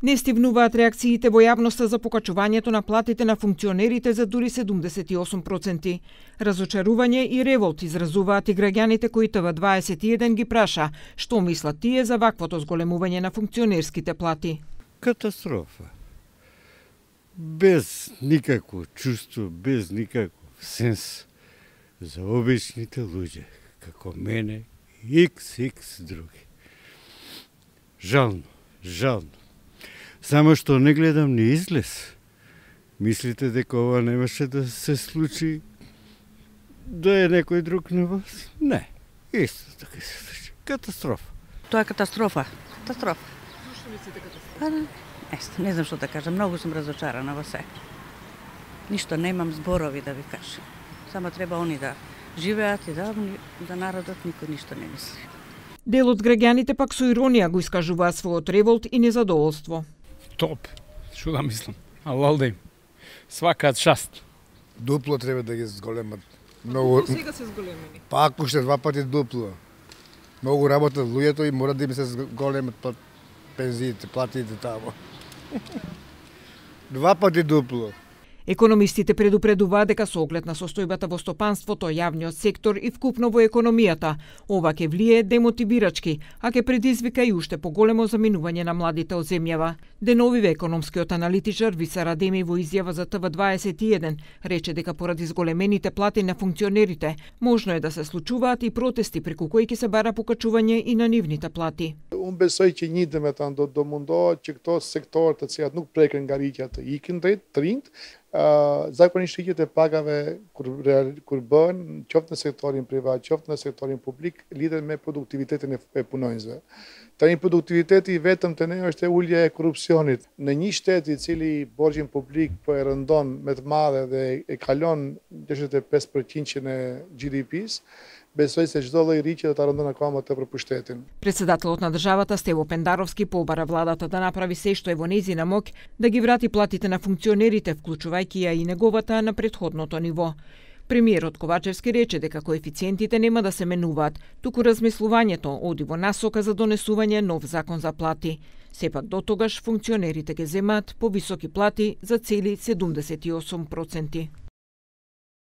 Не стивнуваат реакциите во јавноста за покачувањето на платите на функционерите за дури 78%. Разочарување и револт изразуваат и граѓаните кои ТВ21 ги праша што мислат тие за ваквото зголемување на функционерските плати. Катастрофа. Без никакво чувство, без никаков сенс за обичните луѓе, како мене и XX други. Жално, жално. Само што не гледам ни излез. Мислите дека ова немаше да се случи да е некој друг на вас? Не. Исто така се случи. Катастрофа. Тоа е катастрофа. Катастрофа. Зошто мислите катастрофа? Не знам што да кажам, многу сум разочарана во се. Ништо немам зборови да ви кажам. Само треба они да живеат и да народот никој ништо не мисли. Дел од граѓаните пак со иронија го искажуваат својот револт и незадоволство. Топ, што да мислам, алал да им. Свакаат шаст. Дупло треба да ги зголемат. Многу Сега се зголемени. Пак уште 2 пати дупло. Многу работат луѓето и мора да им се зголемат пензиите, платите тамо. 2 пати дупло. Економистите предупредуваат дека со оглед на состојбата во стопанството, јавниот сектор и вкупно во економијата, ова ќе влие демотивирачки, а ќе предизвика и уште поголемо заминување на младите од земјава. Деновиве економскиот аналитичар Висар Адеми во изјава за ТВ21 рече дека поради зголемените плати на функционерите, можно е да се случуваат и протести преку кои ќе се бара покачување и на нивните плати. Unë besoj që një domethënë do mundohet që këto sektorë të cilat nuk preken ngaritja të ikin drejt të rinjt, zakonisht rritjet e pagave kur bëhen qoftë në sektorin privat, qoftë në sektorin publik, lidhen me produktivitetin e punonjësve. Tani produktiviteti vetëm te ne është e ulja e korrupsionit. Në një shtet i cili borxhin publik po e rëndon me të madhe dhe e kalon 65% e GDP-s, besoj se çdo lloj rritje do ta rëndon akoma tepër pushtetin. Председателот на државата Стево Пендаровски побара владата да направи се што е во нејзина моќ да ги врати платите на функционерите, вклучувајќи ја и неговата на претходното ниво. Премиерот Ковачевски рече дека коефициентите нема да се менуваат, туку размислувањето оди во насока за донесување нов закон за плати. Сепак до тогаш функционерите ќе земаат повисоки плати за цели 78%.